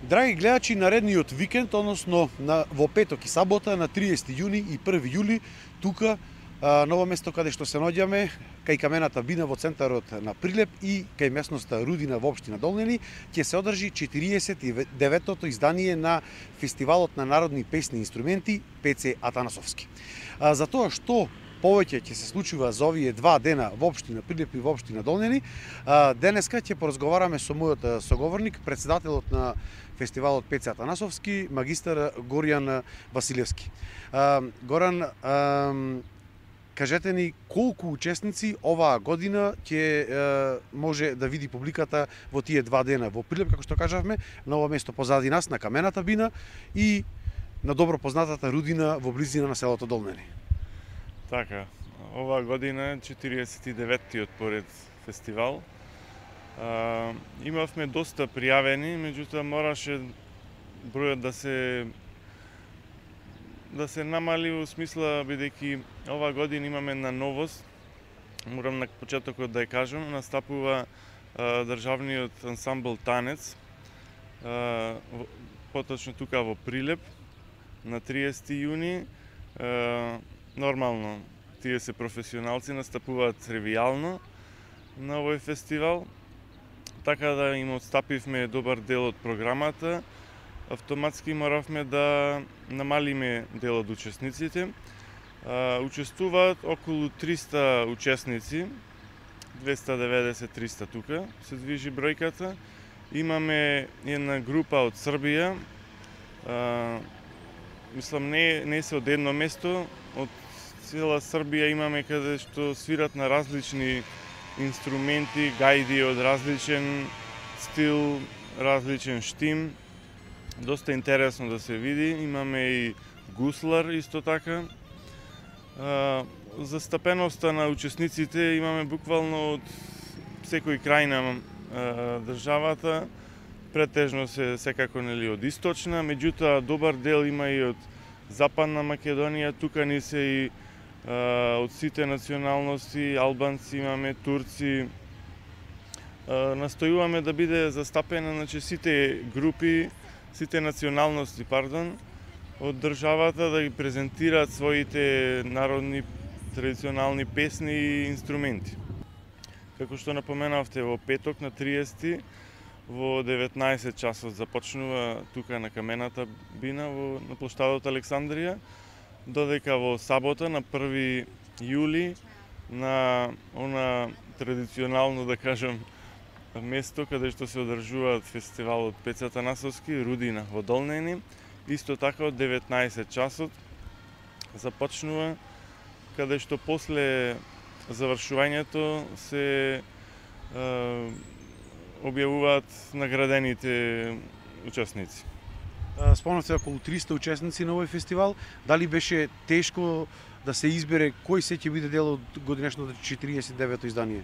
Драги гледачи, наредниот викенд, односно во петок и сабота на 30 јуни и 1 јули, тука ново место каде што се наоѓаме, кај камената бина во центарот на Прилеп и кај местноста Рудина во општина Долнени, ќе се одржи 49-тото издание на Фестивалот на народни песни и инструменти ПЦ Атанасовски. За тоа што повеќе ќе се случува за овие два дена во општина Прилеп и во општина Долнени, денеска ќе поразговараме со мојот соговорник, претседателот на Фестивалот ПЦ Атанасовски, магистар Горијан Василевски. Горан, кажете ни колку учесници оваа година ќе може да види публиката во тие два дена во Прилеп, како што кажавме, ново место позади нас на камената бина и на добро познатата Рудина во близина на селото Долнени. Така, оваа година е 49-тиот поред фестивал. Имавме доста пријавени, меѓутоа мораше бројот да се намали во смисла, бидејќи оваа година имаме на новост. Морам на почетокот да ја кажам, настапува државниот ансамбл Танец, поточно тука во Прилеп на 30 јуни. Нормално, тие се професионалци, настапуваат тривијално на овој фестивал, така да им отстапивме добар дел од програмата. Автоматски моравме да намалиме дел од учесниците. Учествуваат околу 300 учесници, 290-300 тука се движи бројката. Имаме една група од Србија, мислам не се од едно место, од цела Србија имаме каде што свират на различни инструменти, гајди од различен стил, различен штим. Доста интересно да се види. Имаме и гуслар исто така. Застапеноста на учесниците имаме буквално од секој крај на државата. Претежно се секако нели од источна, меѓутоа добар дел има и од Западна Македонија, тука ни се и од сите националности, албанци имаме, турци. Настојуваме да биде застапена, значи, сите групи, сите националности, од државата, да ги презентираат своите народни традиционални песни и инструменти. Како што напоменавте, во петок на 30 во 19 часот започнува тука на камената бина на плоштадот Александрија, додека во сабота на 1 јули на она традиционално, да кажам, место каде што се одржуваат фестивалот ПЦ Атанасовски, Рудина во Долнени, исто така од 19 часот започнува, каде што после завршувањето се објавуваат наградените учесници. Спомнавте околу 300 учесници на овој фестивал. Дали беше тешко да се избере кој се ќе биде дел од годинешното 49-то издание?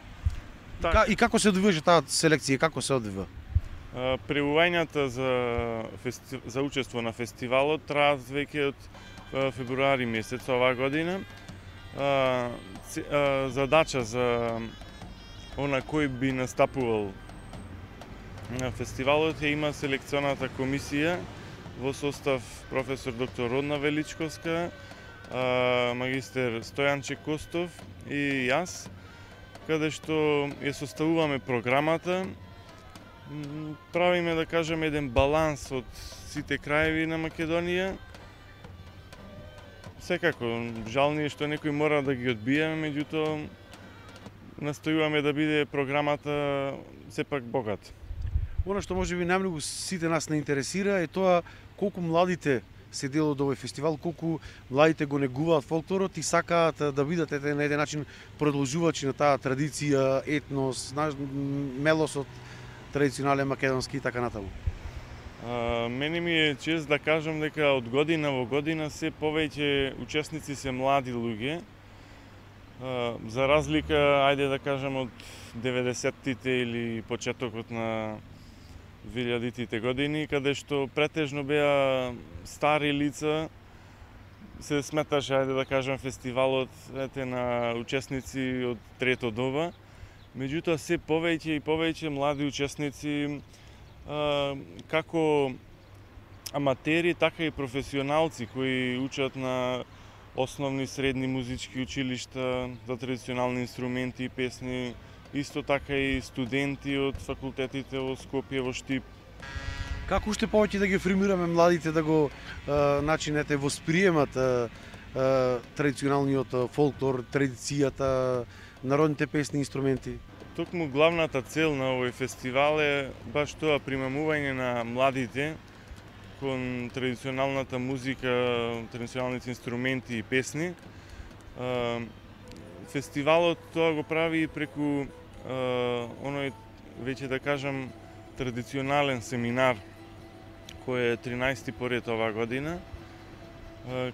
Так. И како се одвиваше таа селекција, како се одвива? Преувањата за учество на фестивалот траат веќе од февруари месец оваа година. Задача за она кој би настапувал на фестивалот има селекционата комисија во состав професор доктор Родна Величковска, магистер Стојанче Костов и јас, каде што ја составуваме програмата, правиме, да кажем, еден баланс од сите краеви на Македонија. Секако, жални е што некој мора да ги одбиеме, меѓутоа настојуваме да биде програмата сепак богата. Она што може би најмногу сите нас не интересира е тоа колку младите се дел од овој фестивал, колку младите го негуваат фолклорот и сакаат да бидат на еден начин продолжувачи на таа традиција, етнос, мелосот традиционален македонски и така натаму. Мене ми е чест да кажам дека од година во година се повеќе учесници се млади луѓе. За разлика, ајде да кажам, од 90-тите или почетокот на 2000-тите години, каде што претежно беа стари лица, се сметаше, ајде да кажам, фестивалот на учесници од трето доба. Меѓутоа, се повеќе и повеќе млади учесници како аматери, така и професионалци кои учат на основни средни музички училишта за традиционални инструменти и песни, исто така и студенти од факултетите во Скопје, во Штип. Како уште повеќе да ги формираме младите да го начинете восприемат традиционалниот фолклор, традицијата, народните песни и инструменти? Токму главната цел на овој фестивал е баш тоа, примамување на младите кон традиционалната музика, традиционалните инструменти и песни. Фестивалот тоа го прави преку оној, веќе да кажам, традиционален семинар кој е 13-ти поред оваа година,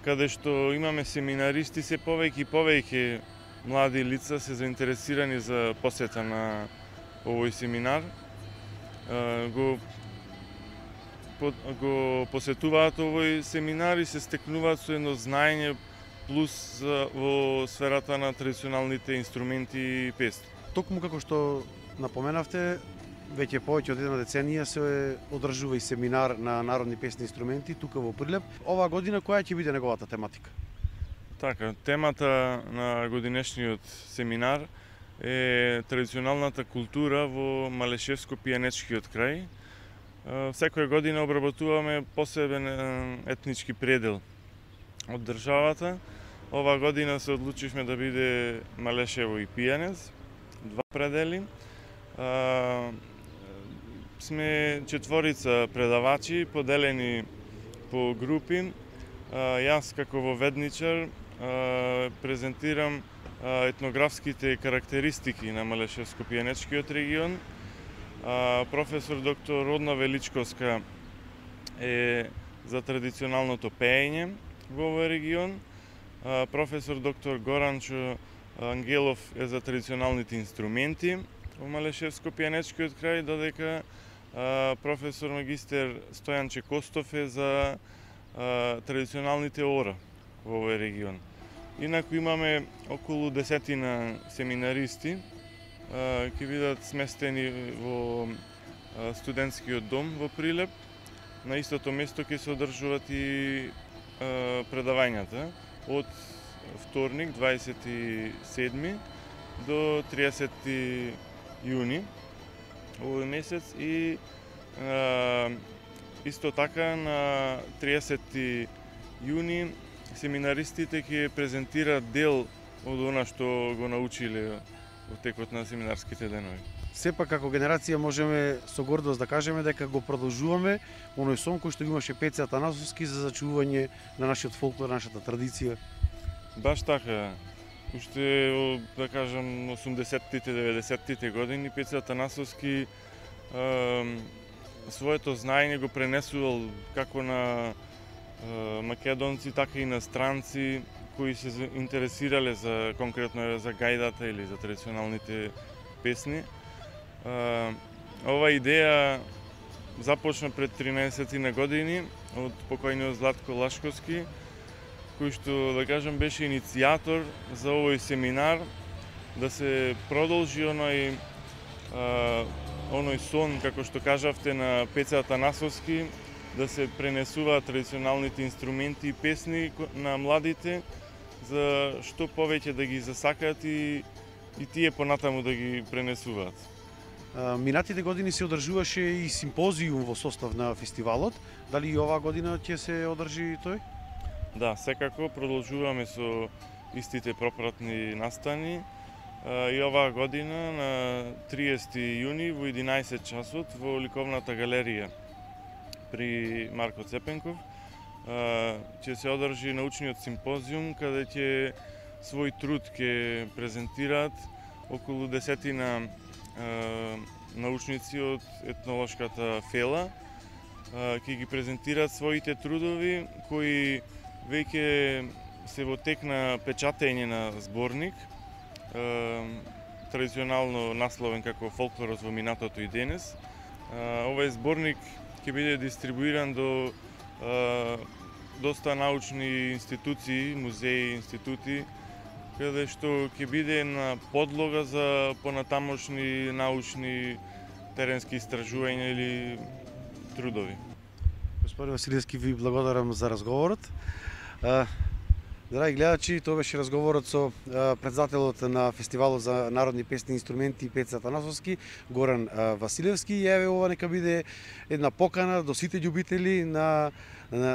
каде што имаме семинаристи, се повеќе и повеќе млади лица се заинтересирани за посета на овој семинар. Го посетуваат овој семинар и се стекнуваат со едно знаење плюс во сферата на традиционалните инструменти и песни. Токму како што напоменавте, веќе повеќе од една деценија се одржува и семинар на народни песни и инструменти тука во Прилеп. Оваа година која ќе биде неговата тематика? Така, темата на годинешниот семинар е традиционалната култура во Малешевско-пијанечкиот крај. Секоја година обработуваме посебен етнички предел од државата. Оваа година се одлучивме да биде Малешево и Пијанец, два предели. Сме четворица предавачи, поделени по групи. Јас како воведничар презентирам етнографските карактеристики на Малешевско-пијанечкиот регион. Професор доктор Родна Величковска е за традиционалното пеење во овој регион. Професор доктор Горанчо Ангелов е за традиционалните инструменти во Малешевско-пијанечкиот крај, додека професор магистер Стојан Чекостов е за традиционалните ора во овој регион. Инаку имаме околу 10 семинаристи, ќе бидат сместени во студентскиот дом во Прилеп. На истото место ќе се одржуваат и предавањата од вторник 27 до 30 јуни овој месец и исто така на 30 јуни семинаристите ќе презентираат дел од она што го научиле во текот на семинарските денови. Сепак како генерација можеме со гордост да кажеме дека го продолжуваме оној сон кој што го имаше Пеце Атанасовски за зачувување на нашиот фолклор, нашата традиција. Баш така. Уште, да кажам, 80-тите, 90-тите години Пеце Атанасовски своето знаење го пренесувал како на македонци, така и на странци кои се интересирале за конкретно за гајдата или за традиционалните песни. Ова идеја започна пред 13 години од покојниот Златко Лашковски, кој што, да кажам, беше иницијатор за овој семинар, да се продолжи оној сон, како што кажавте, на Пеце Атанасовски, да се пренесуваат традиционалните инструменти и песни на младите, за што повеќе да ги засакаат и тие понатаму да ги пренесуваат. Минатите години се одржуваше и симпозиум во состав на фестивалот. Дали и оваа година ќе се одржи тој? Да, секако продолжуваме со истите пропратни настани. И оваа година на 30 јуни во 11 часот во ликовната галерија при Марко Цепенков ќе се одржи научниот симпозиум каде ќе свој труд ќе презентираат околу 10 научници од етнолошката фела. Ќе ги презентираат своите трудови кои веќе се во тек на печатење на зборник, традиционално насловен како Фолклорот во минатото и денес. Овој зборник ќе биде дистрибуиран до доста научни институции, музеи, институти, каде што ќе биде на подлога за понатамошни научни теренски истражувања или трудови. Господин Василевски, ви благодарам за разговорот. Драги гледачи, тоа беше разговорот со председателот на Фестивалот за народни песни и инструменти Пеца Атанасовски, Горан Василевски. И еве ова нека биде една покана до сите љубители на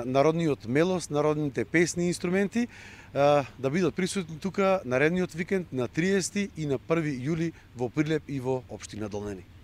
народниот мелос, народните песни и инструменти, да бидат присутни тука наредниот викенд на 30 и на 1 јули во Прилеп и во општина Долнени.